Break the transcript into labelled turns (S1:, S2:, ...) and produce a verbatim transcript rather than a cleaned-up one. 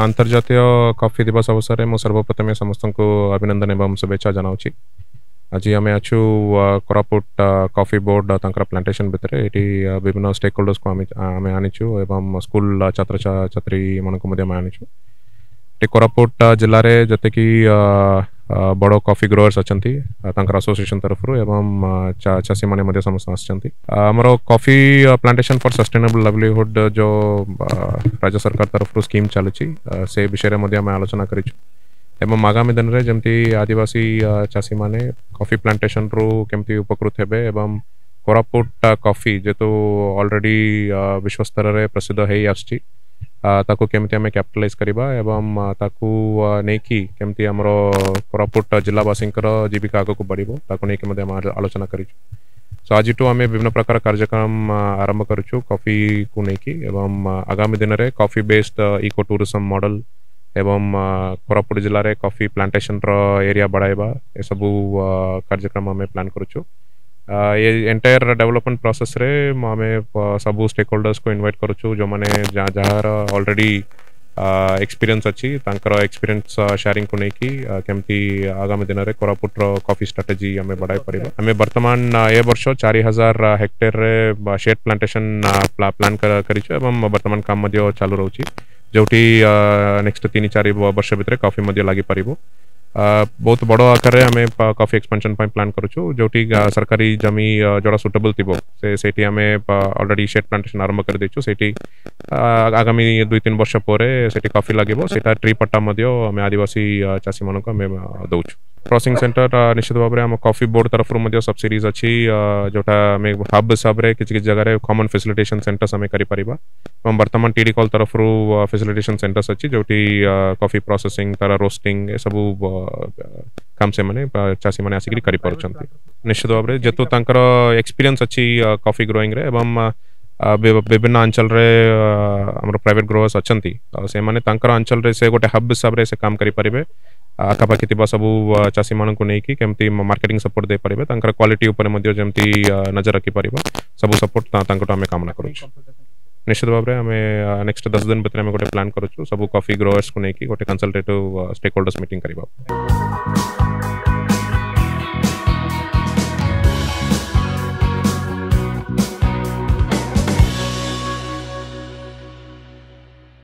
S1: ଆନ୍ତର୍ଜାତୀୟ କଫି ଦିବସ ଅବସରରେ ମୁଁ ସର୍ବପ୍ରଥମେ ସମସ୍ତଙ୍କୁ ଅଭିନନ୍ଦନ ଏବଂ ଶୁଭେଚ୍ଛା ଜଣାଉଛି। ଆଜି ଆମେ ଅଛୁ କୋରାପୁଟ କଫି ବୋର୍ଡ ତାଙ୍କର ପ୍ଲାଣ୍ଟେସନ୍ ଭିତରେ। ଏଠି ବିଭିନ୍ନ ଷ୍ଟେକ୍ ହୋଲ୍ଡର୍ସକୁ ଆମେ ଆମେ ଆଣିଛୁ ଏବଂ ସ୍କୁଲ ଛାତ୍ରଛାତ୍ରୀମାନଙ୍କୁ ମଧ୍ୟ ଆମେ ଆଣିଛୁ। ଏଠି କୋରାପୁଟ ଜିଲ୍ଲାରେ ଯେତିକି ବଡ଼ କଫି ଗ୍ରୋଅର୍ସ ଅଛନ୍ତି, ତାଙ୍କର ଆସୋସିଏସନ୍ ତରଫରୁ ଏବଂ ଚାଷୀମାନେ ମଧ୍ୟ ସମସ୍ତେ ଆସିଛନ୍ତି। ଆମର coffee plantation for sustainable livelihood ଯେଉଁ ରାଜ୍ୟ ସରକାର ତରଫରୁ ସ୍କିମ୍ ଚାଲୁଛି, ସେ ବିଷୟରେ ମଧ୍ୟ ଆମେ ଆଲୋଚନା କରିଛୁ ଏବଂ ଆଗାମୀ ଦିନରେ ଯେମିତି ଆଦିବାସୀ ଚାଷୀମାନେ କଫି ପ୍ଲାଣ୍ଟେସନରୁ କେମିତି ଉପକୃତ ହେବେ ଏବଂ କୋରାପୁଟ କଫି ଯେହେତୁ ଅଲରେଡ଼ି ବିଶ୍ୱସ୍ତରରେ ପ୍ରସିଦ୍ଧ ହେଇ ଆସୁଛି, ତାକୁ କେମିତି ଆମେ କ୍ୟାପିଟାଲାଇଜ୍ କରିବା ଏବଂ ତାକୁ ନେଇକି କେମିତି ଆମର କୋରାପୁଟ ଜିଲ୍ଲାବାସୀଙ୍କର ଜୀବିକା ଆଗକୁ ବଢ଼ିବ, ତାକୁ ନେଇକି ମଧ୍ୟ ଆମେ ଆଲୋଚନା କରିଛୁ। ସୋ ଆଜିଠୁ ଆମେ ବିଭିନ୍ନ ପ୍ରକାର କାର୍ଯ୍ୟକ୍ରମ ଆରମ୍ଭ କରୁଛୁ କଫିକୁ ନେଇକି ଏବଂ ଆଗାମୀ ଦିନରେ coffee based eco tourism model ଏବଂ କୋରାପୁଟ ଜିଲ୍ଲାରେ କଫି ପ୍ଲାଣ୍ଟେସନର ଏରିଆ ବଢ଼ାଇବା, ଏସବୁ କାର୍ଯ୍ୟକ୍ରମ ଆମେ ପ୍ଲାନ୍ କରୁଛୁ। ଏ ଏଣ୍ଟାୟାର ଡେଭଲପମେଣ୍ଟ ପ୍ରୋସେସ୍ରେ ଆମେ ସବୁ ଷ୍ଟେକ୍ ହୋଲ୍ଡର୍ସକୁ ଇନଭାଇଟ୍ କରୁଛୁ, ଯେଉଁମାନେ ଯାହାର ଅଲରେଡ଼ି ଏକ୍ସପିରିଏନ୍ସ ଅଛି, ତାଙ୍କର ଏକ୍ସପିରିଏନ୍ସ ସେୟାରିଂକୁ ନେଇକି କେମିତି ଆଗାମୀ ଦିନରେ କୋରାପୁଟର କଫି ଷ୍ଟ୍ରାଟେଜି ଆମେ ବଢ଼ାଇ ପାରିବା। ଆମେ ବର୍ତ୍ତମାନ ଏ ବର୍ଷ ଚାରି ହଜାର ହେକ୍ଟେରରେ ସେଡ୍ ପ୍ଲାଣ୍ଟେସନ ପ୍ଲାନ୍ କରିଛୁ ଏବଂ ବର୍ତ୍ତମାନ କାମ ମଧ୍ୟ ଚାଲୁ ରହୁଛି, ଯେଉଁଠି ନେକ୍ସଟ ତିନି ଚାରି ବର୍ଷ ଭିତରେ କଫି ମଧ୍ୟ ଲାଗିପାରିବ। ବହୁତ ବଡ଼ ଆକାରରେ ଆମେ କଫି ଏକ୍ସପାନସନ୍ ପାଇଁ ପ୍ଲାନ୍ କରୁଛୁ। ଯେଉଁଠି ସରକାରୀ ଜମି ଯେଉଁଟା ସୁଟେବଲ୍ ଥିବ, ସେ ସେଇଠି ଆମେ ଅଲରେଡ଼ି ସେଡ୍ ପ୍ଲାଣ୍ଟେସନ୍ ଆରମ୍ଭ କରିଦେଇଛୁ। ସେଇଠି ଆଗାମୀ ଦୁଇ ତିନି ବର୍ଷ ପରେ ସେଠି କଫି ଲାଗିବ। ସେଇଟା ଟ୍ରି ପଟ୍ଟା ମଧ୍ୟ ଆମେ ଆଦିବାସୀ ଚାଷୀମାନଙ୍କୁ ଆମେ ଦେଉଛୁ। ପ୍ରୋସେସିଂ ସେଣ୍ଟର ନିଶ୍ଚିତ ଭାବରେ ଆମ କଫି ବୋର୍ଡ ତରଫରୁ ମଧ୍ୟ ସବସିଡିଜ୍ ଅଛି, ଯେଉଁଟା ଆମେ ହବ୍ ହିସାବରେ କିଛି କିଛି ଜାଗାରେ କମନ୍ ଫେସିଲିଟେସନ୍ ସେଣ୍ଟର୍ସ ଆମେ କରିପାରିବା ଏବଂ ବର୍ତ୍ତମାନ ଟି ଡି କଲ୍ ତରଫରୁ ଫେସିଲିଟେସନ୍ ସେଣ୍ଟର୍ସ ଅଛି, ଯେଉଁଠି କଫି ପ୍ରୋସେସିଂ, ତାର ରୋଷ୍ଟିଂ, ଏସବୁ କାମ ସେମାନେ ଚାଷୀମାନେ ଆସିକରି କରିପାରୁଛନ୍ତି। ନିଶ୍ଚିତ ଭାବରେ ଯେହେତୁ ତାଙ୍କର ଏକ୍ସପିରିଏନ୍ସ ଅଛି କଫି ଗ୍ରୋଇଂରେ ଏବଂ ବିଭିନ୍ନ ଅଞ୍ଚଳରେ ଆମର ପ୍ରାଇଭେଟ୍ ଗ୍ରୋଅର୍ସ ଅଛନ୍ତି, ଆଉ ସେମାନେ ତାଙ୍କର ଅଞ୍ଚଳରେ ସେ ଗୋଟେ ହବ୍ ହିସାବରେ ସେ କାମ କରିପାରିବେ। ଆଖାପାଖି ଥିବା ସବୁ ଚାଷୀମାନଙ୍କୁ ନେଇକି କେମିତି ମାର୍କେଟିଂ ସପୋର୍ଟ ଦେଇପାରିବେ, ତାଙ୍କର କ୍ୱାଲିଟି ଉପରେ ମଧ୍ୟ ଯେମିତି ନଜର ରଖିପାରିବା, ସବୁ ସପୋର୍ଟ ତାଙ୍କଠୁ ଆମେ କାମନା କରୁଛୁ। ନିଶ୍ଚିତ ଭାବରେ ଆମେ ନେକ୍ସଟ ଦଶ ଦିନ ଭିତରେ ଆମେ ଗୋଟେ ପ୍ଲାନ୍ କରୁଛୁ, ସବୁ କଫି ଗ୍ରୋଅର୍ସକୁ ନେଇକି ଗୋଟେ କନସଲଟେଟିଭ୍ ଷ୍ଟେକ୍ ହୋଲ୍ଡର୍ସ ମିଟିଂ କରିବା।